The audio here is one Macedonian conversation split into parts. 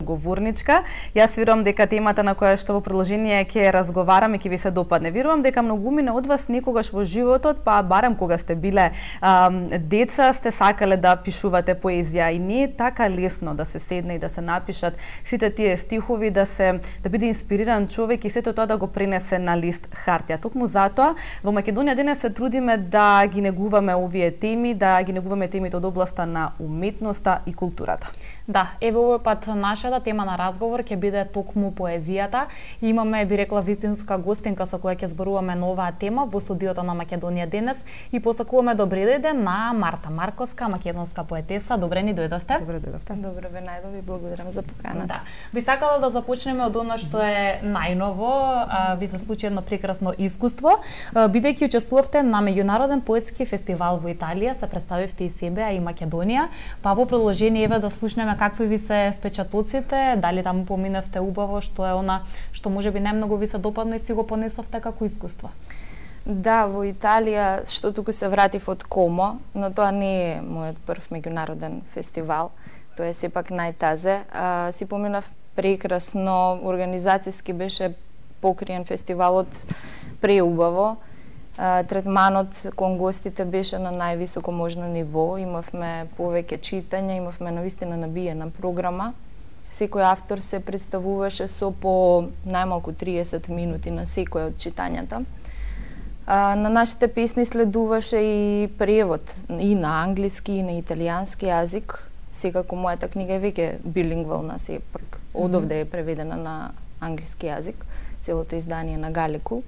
говорничка. Јас верувам дека темата на која што во продолжение ќе разговараме ќе ви се допадне. Верувам дека многумина од вас некогаш во животот, па барем кога сте биле деца, сте сакале да пишувате поезија и не е така лесно да се седне и да се напишат сите тие стихови, да биде инспириран човек и сето тоа да го пренесе на лист хартија. Токму затоа во Македонија денес се трудиме да ги негуваме овие теми, да ги негуваме темите од областа на уметноста и културата. Да, еве овој пат нашата тема на разговор ќе биде токму поезијата. Имаме, би рекла, вистинска гостинка со која ќе зборуваме на оваа тема во студиото на Македонија денес и посакуваме добре дојде на Марта Марковска, македонска поетеса. Добре ни дојдовте. Добре дојдовте. Добре ве најдови, благодарам за поканата. Да. Би сакала да започнеме од она што е најново. Ви се случи едно прекрасно искуство, бидејќи учествувавте на меѓународен поетски фестивал во Италија, се представивте и себе, а и Македонија. Па во продолжение еве да слушнеме какви ви се впечатоците, дали таму поминавте убаво, што е она што можеби најмногу ви се допадна и си го понесовте како искуство. Да, во Италија, што туку се вратив од Комо, но тоа не е мојот прв меѓународен фестивал, тоа е сепак најтазе. Си поминав прекрасно, организацијски беше покриен фестивалот преубаво. Третманот кон гостите беше на највисоко можно ниво, имавме повеќе читања, имавме навистина набиена програма. Секој автор се представуваше со по најмалку 30 минути на секој од читањата. На нашите песни следуваше и превод и на англиски и на италијански јазик. Секако мојата книга е веќе билингвална, сепак одовде е преведена на англиски јазик, целото издание на Галикул.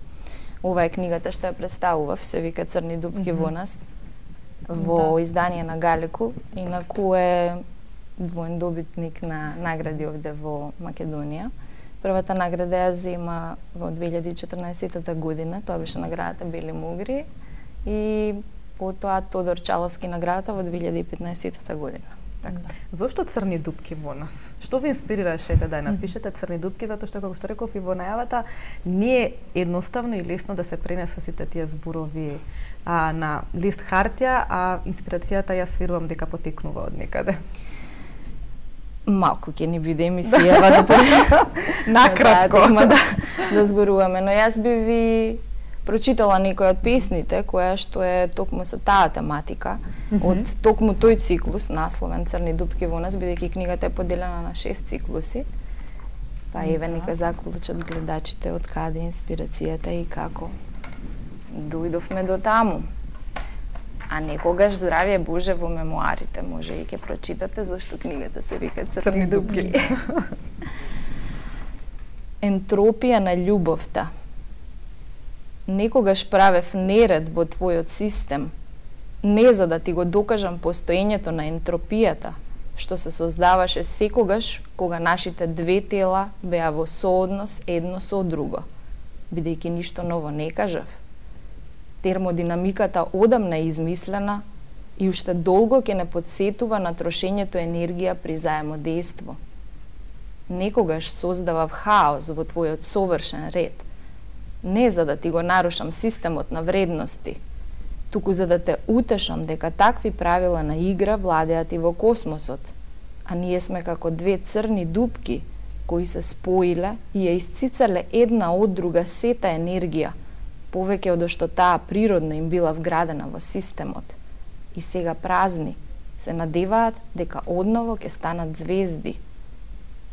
Ова е книгата што ја представував, се вика Црни дупки во нас, во издание на Галикул, инаку е двоен добитник на награди овде во Македонија. Првата награда ја зема во 2014 година, тоа беше наградата Бели Мугри, и потоа Тодор Чаловски наградата во 2015 година. Така. Зошто Црни дупки во нас? Што ви инспирираше да ја напишете Црни дупки? Затоа што, како што реков и во најавата, не е едноставно и лесно да се пренесат сите тие зборови на лист хартија, а инспирацијата јас верувам дека потекнува од некаде. Малку ќе ни биде емисијава накратко да зборуваме, но јас би ви прочитала некој од песните која што е токму со таа тематика, од токму тој циклус, насловен Црни дупки во нас, бидејќи книгата е поделена на 6 циклуси. Па еве нека заклучат гледачите од каде инспирацијата и како дојдовме до таму. А некогаш, здравје Боже, во мемуарите може и ќе прочитате зашто книгата се вика Црни дупки. Ентропија на љубовта. Некогаш правев неред во твојот систем, не за да ти го докажам постоењето на ентропијата, што се создаваше секогаш кога нашите две тела беа во сооднос едно со друго, бидејќи ништо ново не кажав. Термодинамиката одамна е измислена и уште долго ќе не подсетува на трошењето енергија при заемодејство. Некогаш создавав хаос во твојот совршен ред, не за да ти го нарушам системот на вредности, туку за да те утешам дека такви правила на игра владеат и во космосот, а ние сме како две црни дупки кои се споиле и ја исцицале една од друга сета енергија, повеќе од што таа природно им била вградена во системот. И сега празни се надеваат дека одново ќе станат звезди.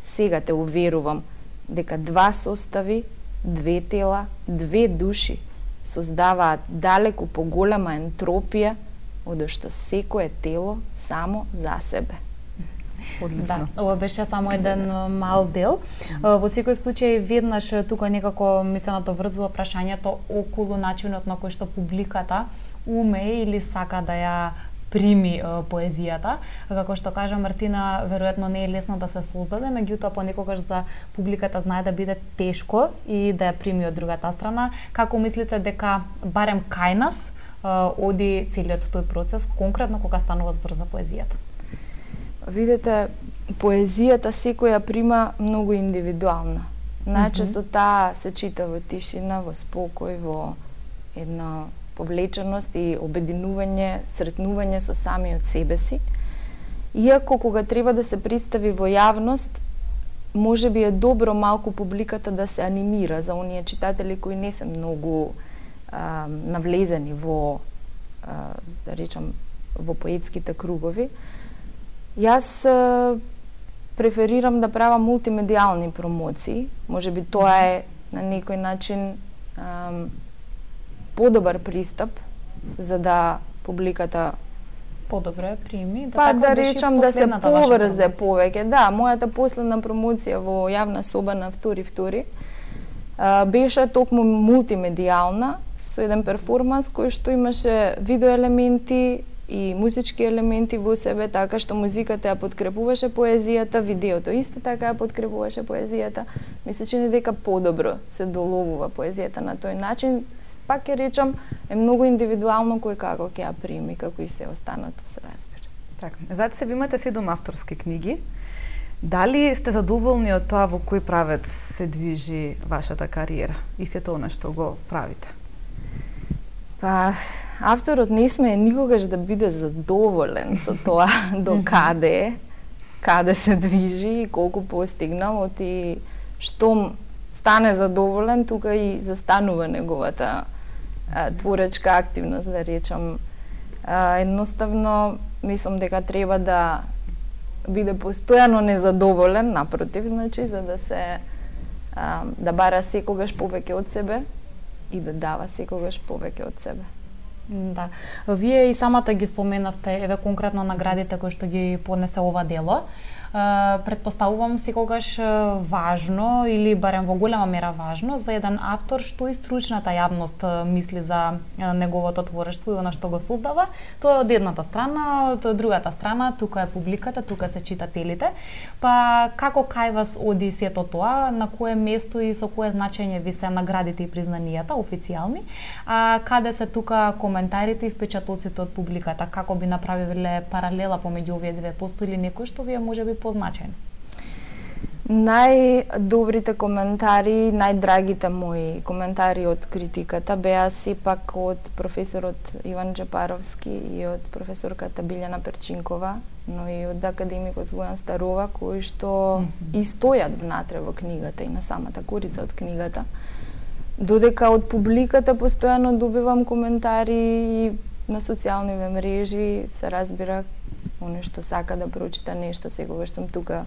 Сега те уверувам дека два состави, две тела, две души создаваат далеку поголема ентропија од што секое тело само за себе. Одлично. Да, ова беше само еден мал дел. Во секој случај веднаш тука некако ми се надоврзува прашањето околу начинот на кој што публиката уме или сака да ја прими поезијата. Како што кажа Мартина, веројатно не е лесно да се создаде, меѓутоа понекогаш за публиката знае да биде тешко и да ја прими од другата страна. Како мислите дека барем кај нас оди целиот тој процес, конкретно кога станува збор за поезијата? Видете, поезијата секоја прима многу индивидуална. Најчесто таа се чита во тишина, во спокој, во една повлеченост и обединување, сретнување со самиот себе си. Иако кога треба да се представи во јавност, може би е добро малку публиката да се анимира за оние читатели кои не се многу навлезени во, да речам, во поетските кругови. Јас преферирам да правам мултимедијални промоции. Може би тоа е на некој начин подобар пристап за да публиката подобро прими, па да речам да се поврзе повеќе. Да, мојата последна промоција во јавна соба на втори беше токму мултимедијална со еден перформанс кој што имаше видео елементи и музички елементи во себе, така што музиката ја подкрепуваше поезијата, видеото исто така ја подкрепуваше поезијата. Ми се чини дека подобро се доловува поезијата на тој начин. Пак ќе речам, е многу индивидуално кој како ќе ја прими, како и се останато се разбира. Така, зад себе имате 7 авторски книги. Дали сте задоволни од тоа во кој правец се движи вашата кариера и сето она што го правите? Па, авторот не сме никогаш да биде задоволен со тоа до каде се движи и колку постигнал, оти што стане задоволен, тука и застанува неговата творечка активност, да речам. Едноставно, мислам дека треба да биде постојано незадоволен, напротив, значи, за да се да бара секогаш повеќе од себе и да дава секогаш повеќе од себе. Да. Вие и самата ги споменавте, еве конкретно наградите кои што ги понесе ова дело. Претпоставувам секогаш важно или барем во голема мера важно за еден автор што и стручната јавност мисли за неговото творештво и она што го создава. Тоа е од едната страна, од другата страна тука е публиката, тука се читателите. Па како кај вас оди сето тоа, на кое место и со кое значење ви се наградите и признанијата официјални, а каде се тука коментарите и впечатоците од публиката, како би направиле паралела помеѓу овие две, постои ли некој што ви е можеби позначен? Најдобрите коментари, најдрагите мои коментари од критиката беа сепак од професорот Иван Джапаровски и од професорката Билјана Перчинкова, но и од академикот Лујан Старова, кои што и стојат внатре во книгата и на самата корица од книгата. Додека од публиката постојано добивам коментари и на социјални мрежи, се разбира, оној што сака да прочита нешто, секогаш сум тука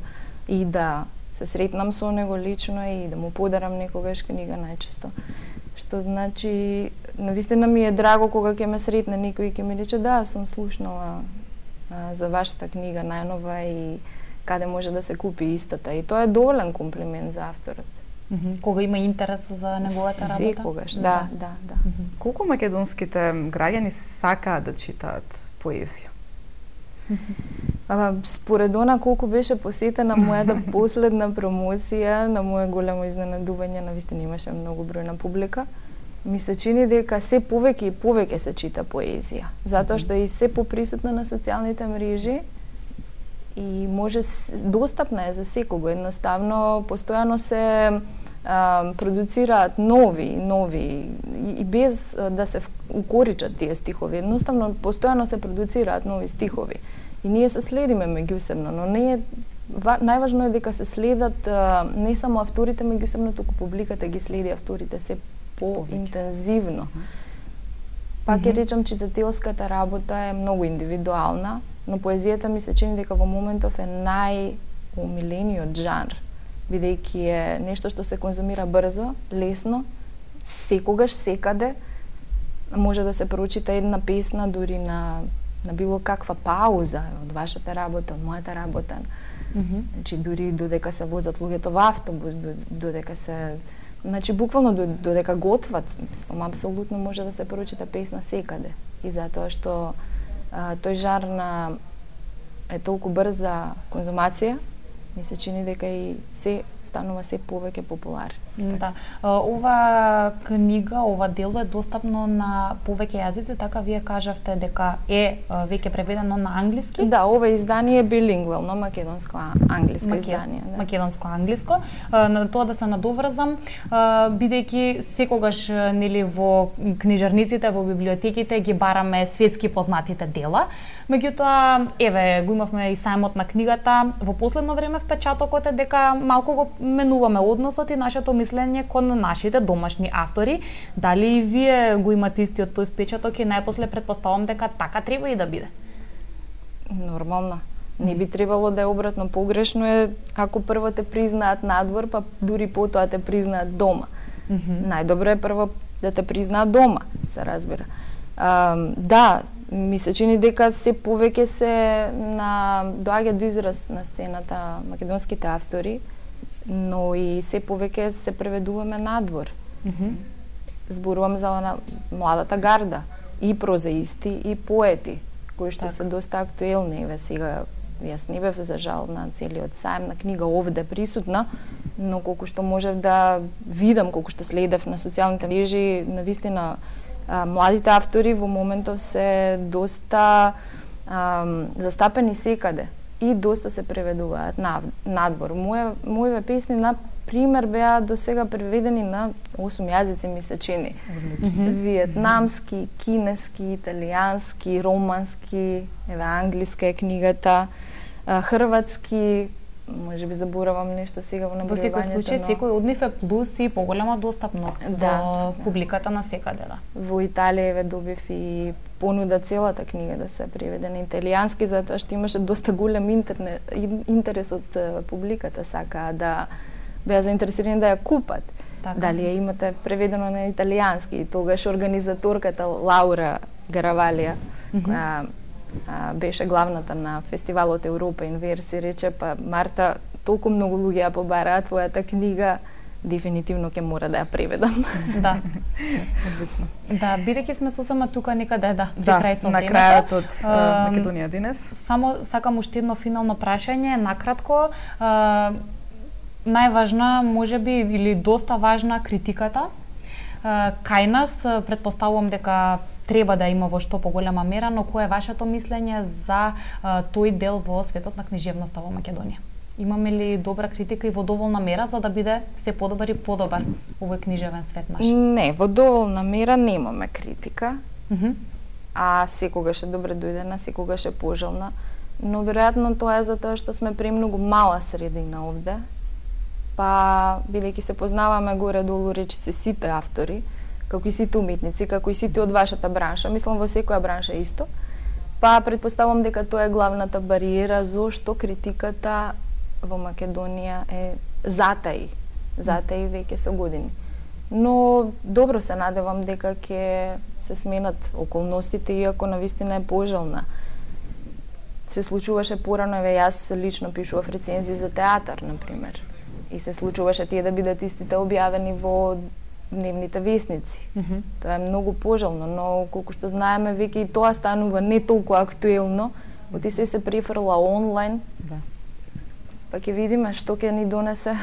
и да се сретнам со него лично и да му подарам некогаш книга најчесто. Што значи, навистина ми е драго кога ќе ме сретне некој и ќе ми рече да, сум слушнала за вашата книга најнова и каде може да се купи истата. И тоа е доволен комплимент за авторот. Кога има интерес за неговата работа? Секогаш, да. Колку македонските граѓани сакаат да читаат поезија? Според она колку беше посетена мојата последна промоција, на моје големо изненадување, навистина имаше многу бројна публика, ми се чини дека се повеќе и повеќе се чита поезија, затоа што е и се поприсутна на социјалните мрежи и може достапна е за секого. Едноставно постојано се продуцираат нови и без да се укоричат тие стихови. Едноставно постојано се продуцираат нови стихови и ние се следиме меѓусебно, но не е најважно е дека се следат не само авторите меѓусебно, туку публиката ги следи авторите се поинтензивно. Пак ќе речам, читателската работа е многу индивидуална, но поезијата ми се чини дека во моментов е најомилениот жанр, бидејќи е нешто што се конзумира брзо, лесно, секогаш, секаде, може да се прочита една песна дури на било каква пауза од вашата работа, од мојата работа. Значи, дури додека се возат луѓето во автобус, додека се... Значи, буквално додека готват, мислам, апсолутно може да се прочита песна секаде. И затоа што тој жанр е толку брза конзумација, ми се чини дека и се станува се повеќе популарен. Да. Ова книга, ова дело е достапно на повеќе јазици, така вие кажавте дека е веќе преведено на англиски? Да, ова издание е билингвално, македонско-англиско издание. Да. Македонско-англиско. На тоа да се надоврзам, бидејќи секогаш нели во книжарниците, во библиотеките ги бараме светски познатите дела. Меѓутоа, еве, го имавме и сајмот на книгата во последно време оставаме впечатокот е дека малку го менуваме односот и нашето мислење кон нашите домашни автори. Дали и вие го имате истиот тој впечаток и најпосле претпоставам дека така треба и да биде? Нормално. Не би требало да е обратно. Погрешно е ако прво те признаат надвор, па дури потоа те признаат дома. Најдобро е прво да те признаат дома, се разбира. Да, ми се чини дека се повеќе доаѓа до израз на сцената македонските автори, но и се повеќе се преведуваме надвор. Зборувам за младата гарда, и прозаисти, и поети, кои што се доста актуелни. Еве сега, јас не бев за жал на целиот сајм на книга овде присутна, но колку што можев да видам, колку што следев на социјалните мрежи, навистина младите автори во моментов се доста застапени секаде и доста се преведуваат надвор. Моите песни, на пример, беа до сега преведени на 8 јазици, ми се чини. Виетнамски, кинески, италијански, романски, еве англиска е книгата, хрватски, може би заборавам нешто сега во набројувањето. Во секој случај, секој од нив е плюс и поголема достапност до публиката на секаде, да. Во Италија еве добив и понуда целата книга да се преведе на италијански, затоа што имаше доста голем интерес од публиката, сакаа да беа заинтересирани да ја купат. Така. Дали ја имате преведено на италијански, и тогаш организаторката Лаура Гаравалија, која беше главната на фестивалот Европа Инверси, рече, па Марта, толку многу луѓе ја побараат твојата книга, дефинитивно ќе мора да ја преведам. Да. Одлично. Да, бидејќи сме сосема тука некаде, при крај со на крајот од Македонија денес. Само сакам уште едно финално прашање, накратко, најважна, можеби, или доста важна критиката. Кај нас, претпоставувам дека треба да има во што поголема мера, но кое е вашето мислење за тој дел во светот на книжевноста во Македонија? Имаме ли добра критика и во доволна мера за да биде се подобар и подобар овој книжевен свет наш? Не, во доволна мера немаме критика, а секогаш е добре дојдена, секогаш е пожелна, но веројатно тоа е затоа што сме премногу мала средина овде, па бидејќи се познаваме горе-долу речиси сите автори, како и сите уметници, како и сите од вашата бранша, мислам во секоја бранша исто, па предпоставам дека тоа е главната бариера зошто критиката во Македонија е затаи веќе со години. Но добро се надевам дека ќе се сменат околностите, иако навистина е пожелна. Се случуваше порано, еве јас лично пишував рецензии за театар, например, и се случуваше тие да бидат истите објавени во дневните весници. Тоа е многу пожелно, но колку што знаеме, веќе и тоа станува не толку актуелно, оти се префрла онлайн. Да. Па ќе видиме што ќе ни донесе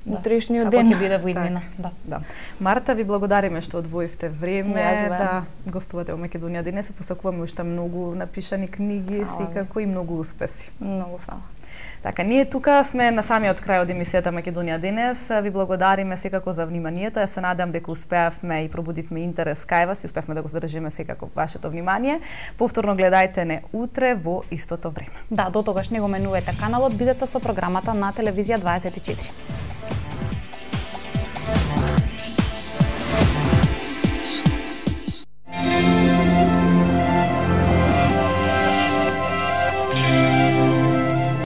утрешниот ден. Како ќе биде во иднина. Да. Марта, ви благодариме што одвоивте време да гостувате во Македонија денес. Посакуваме уште многу напишани книги, секако и многу успеси. Многу фала. Така, ние тука сме на самиот крај од емисијата Македонија денес. Ви благодариме секако за вниманието. Јас се надам дека успеавме и пробудивме интерес кај вас и успеавме да го задржиме секако вашето внимание. Повторно гледајте не утре во истото време. Да, до тогаш не го менувајте каналот, бидете со програмата на Телевизија 24.